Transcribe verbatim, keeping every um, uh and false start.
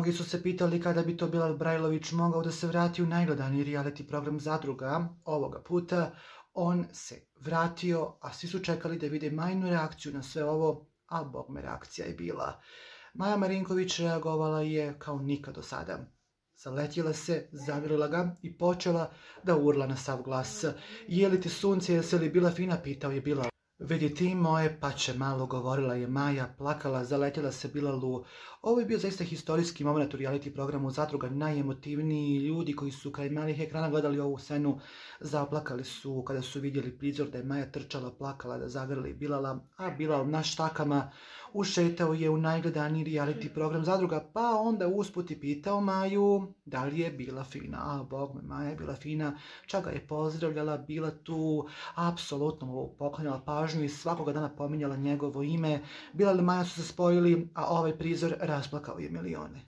Mnogi su se pitali kada bi to Bilal Brajlović mogao da se vrati u najgledaniji reality program Zadruga. Ovoga puta on se vratio, a svi su čekali da vide Majinu reakciju na sve ovo, a bogme reakcija je bila. Maja Marinković reagovala je kao nikad do sada. Zaletjela se, zagrlila ga i počela da urla na sav glas. Je li ti sunce, jesi li bila fina, pitao je Bilal. Vidi ti moje pače malo, govorila je Maja, plakala, zaletjela se Bilalu. Ovo je bio zaista historijski moment u reality programu Zadruga, najemotivniji ljudi koji su kraj malih ekrana gledali ovu scenu, zaplakali su kada su vidjeli prizor da je Maja trčala, plakala, da zagrli Bilala, a Bilal na štakama ušetao je u najgledaniji reality program Zadruga, pa onda usput i pitao Maju da li je bila fina. A bog me, Maja je bila fina, čak ga je pozdravljala, bila tu, apsolutno mu poklanjala pažnju i svakoga dana pominjala njegovo ime. Bilal i Maja su se spojili, a ovaj prizor rasplakao je milione.